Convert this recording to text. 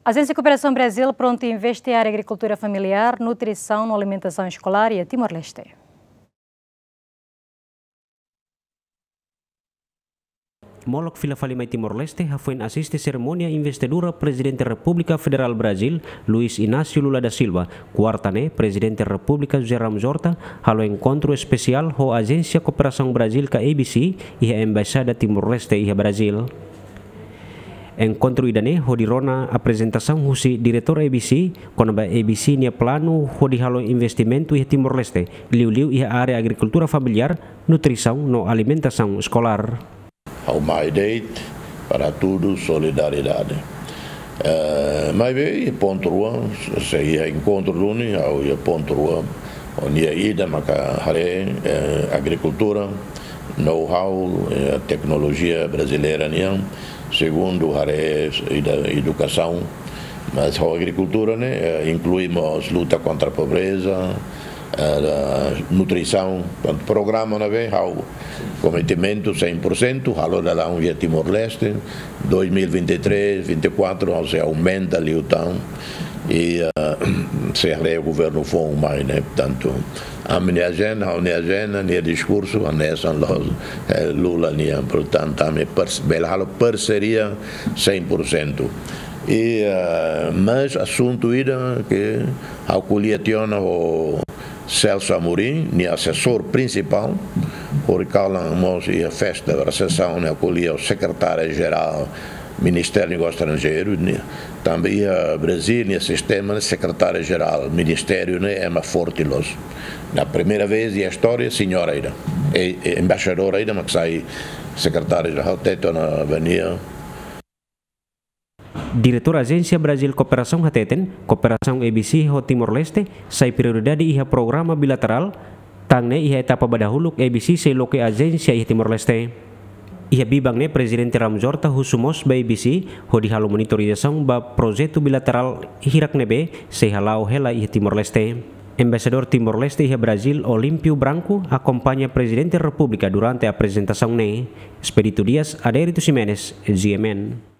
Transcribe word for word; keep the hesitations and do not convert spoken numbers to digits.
Ajénsia Kooperasaun Brazil prontu investe iha área agrikultura familiár, nutrisaun no alimentasaun eskolár iha Timor-Leste. Molok fila fali mai Timor-Leste, hafoin asiste serimónia investidura Prezidente Repúblika Federál Brazil, Luiz Inácio Lula da Silva, kuarta ne'e, Prezidente Repúblika José Ramos Horta halo enkontru espesiál ho Ajénsia Kooperasaun Brazil ka A B C iha Embaixada Timor-Leste iha Brazil. Enkontru ida-ne'e hodi rona aprezentasaun husi Diretór A B C kona-ba A B C nia planu hodi halo investimentu iha Timor-Leste, liuliu iha área agrikultura familiár, nutrisaun no alimentasaun eskolár. Ha'u mai de'it para tudu solidariedade. Eh, maibé pontu rua, se iha enkontru duni, ha'u iha pontu rua, ha'u-nia ida maka haree, eh, agrikultura, know-how, eh, teknolojia brasileira nian, segundu haree ida edukasaun, mas ha'u agrikultura ne'e, eh, inklui mós luta kontra pobreza, eh, nutrisaun, portantu programa ne'ebé ha'u komprometementu cem por cento, halo dalan iha Timor-Leste, dois mil e vinte e três, vinte e quatro, ha'u sei aumenta liután, i, eh, sei haree governu foun mai, ne'e, portantu, ami-nia ajenda, ha'u-nia ajenda, nia diskursu, hanesan loos, eh, Lula nian, portantu, ami pars-, bele halo parseria cem por cento. I, eh, mas asuntu ida ke ha'u ko'alia tiha ona ho Celso Amorim, nia asesór prinsipál, hori kalan mós iha festa, resesaun, nia ko'alia ho sekretária jerál Ministériu Negósius Estranjeirus, nia, tanba iha Brazil, nia sistema ne'e sekretária jerál ministériu ne'e ema forte loos. Ne'e primeira vez iha istória, señora ida, e, e embaixadora ida, mak sai sekretária jerál, hatete ona ba nia. Diretór Ajénsia Brazil Kooperasaun hateten, kooperasaun A B C ho Timor-Leste sai prioridade iha programa bilaterál, tan ne'e iha etapa ba dahuluk A B C sei loke ajénsia iha Timor-Leste. Iha biban ne'e Prezidente Ramos Horta husu mós ba A B C hodi halo monitorizasaun ba projetu bilaterál hirak ne'ebé sei hala'o hela iha Timor-Leste. Embaixadór Timor-Leste iha Brazil, Olímpio Branco, akompaña Prezidente Repúblika durante aprezentasaun ne'e. Expedito Dias, Adérito Ximenes, G M N.